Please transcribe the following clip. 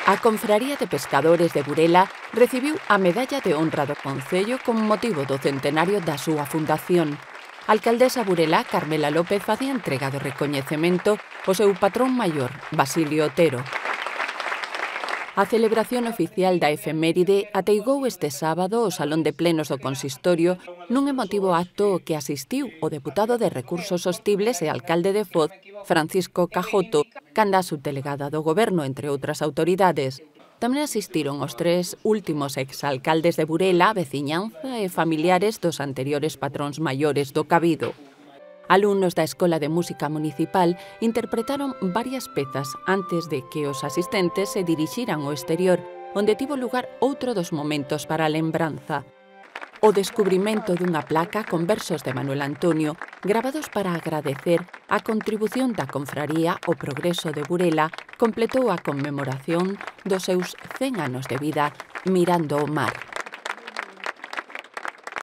A Confraría de Pescadores de Burela recibiu a Medalla de Honra do Concello con motivo do centenario da súa fundación. A alcaldesa burelá, Carmela López, facía entrega do recoñecemento ao seu patrón maior, Basilio Otero. A celebración oficial da efeméride ateigou este sábado o Salón de Plenos do Consistorio nun emotivo acto ao que asistiu o deputado de Recursos Sostibles e alcalde de Foz, Francisco Cajoto, canda subdelegada do Goberno, entre outras autoridades. Tamén asistiron os 3 últimos exalcaldes de Burela, a veciñanza e familiares dos anteriores patróns maiores do Cabido. Alumnos da Escola de Música Municipal interpretaron varias pezas antes de que os asistentes se dirixiran ao exterior, onde tivo lugar outro dos momentos para a lembranza. O descubrimento dunha placa con versos de Manuel Antonio gravados para agradecer a contribución da confraría ao progreso de Burela completou a conmemoración dos seus 100 anos de vida mirando o mar.